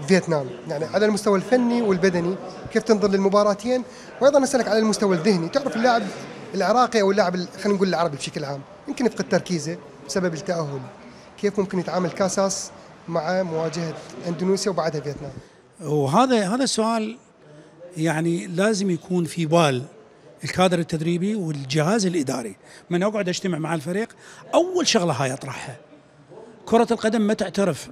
فيتنام، يعني على المستوى الفني والبدني كيف تنظر للمباراتين؟ وايضا اسالك على المستوى الذهني، تعرف اللاعب العراقي او اللاعب خلينا نقول العربي بشكل عام يمكن يفقد تركيزه بسبب التاهل، كيف ممكن يتعامل كاساس مع مواجهه اندونيسيا وبعدها فيتنام؟ وهذا السؤال يعني لازم يكون في بال الكادر التدريبي والجهاز الاداري. من اقعد اجتمع مع الفريق اول شغله هاي اطرحها، كرة القدم ما تعترف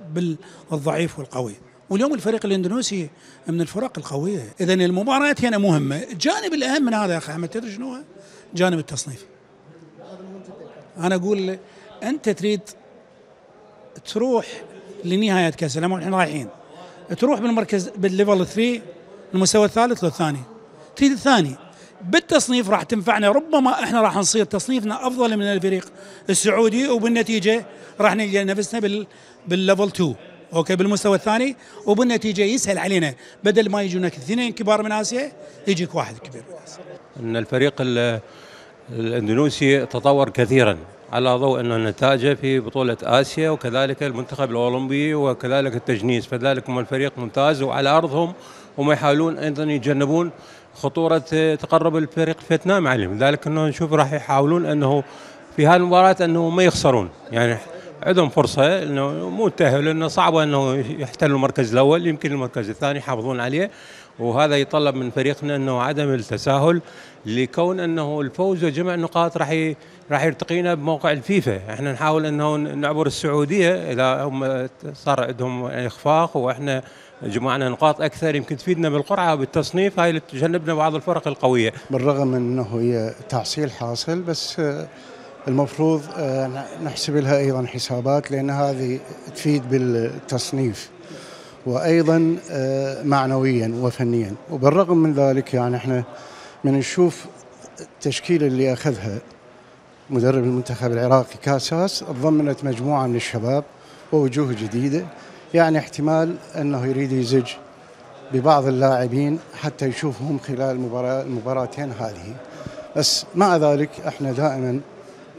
بالضعيف والقوي، واليوم الفريق الاندونيسي من الفرق القويه، اذا المباريات هنا مهمه. الجانب الاهم من هذا يا اخي احمد تدري شنو هو؟ جانب التصنيف. انا اقول انت تريد تروح لنهايه كاس العالم، احنا رايحين تروح بالمركز بالليفل 3 المستوى الثالث والثاني، تريد الثاني بالتصنيف راح تنفعنا، ربما احنا راح نصير تصنيفنا افضل من الفريق السعودي، وبالنتيجه راح نلقى نفسنا بالليفل 2 اوكي بالمستوى الثاني، وبالنتيجه يسهل علينا بدل ما يجونك اثنين كبار من اسيا يجيك واحد كبير من اسيا. ان الفريق الاندونيسي تطور كثيرا على ضوء انه نتائجه في بطوله اسيا، وكذلك المنتخب الاولمبي وكذلك التجنيس، فذلك هم الفريق ممتاز وعلى ارضهم، هم يحاولون ايضا يتجنبون خطوره تقرب الفريق فيتنام عليهم، لذلك انه نشوف راح يحاولون انه في هذه المباراه انه ما يخسرون، يعني عندهم فرصه انه مو تاهل، لانه صعبه انه يحتلوا المركز الاول، يمكن المركز الثاني يحافظون عليه، وهذا يطلب من فريقنا انه عدم التساهل، لكون انه الفوز وجمع النقاط راح يرتقينا بموقع الفيفا، احنا نحاول انه نعبر السعوديه اذا هم صار عندهم اخفاق واحنا جمعنا نقاط اكثر يمكن تفيدنا بالقرعه وبالتصنيف، هاي اللي تجنبنا بعض الفرق القويه. بالرغم من انه هي تحصيل حاصل، بس المفروض نحسب لها ايضا حسابات، لان هذه تفيد بالتصنيف وايضا معنويا وفنيا. وبالرغم من ذلك يعني احنا من نشوف التشكيله اللي اخذها مدرب المنتخب العراقي كاساس، ضمنت مجموعه من الشباب ووجوه جديده، يعني احتمال انه يريد يزج ببعض اللاعبين حتى يشوفهم خلال المباراتين هذه. بس مع ذلك احنا دائما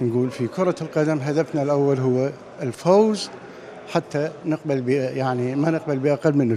نقول في كرة القدم هدفنا الأول هو الفوز، حتى نقبل يعني ما نقبل بأقل من الفوز.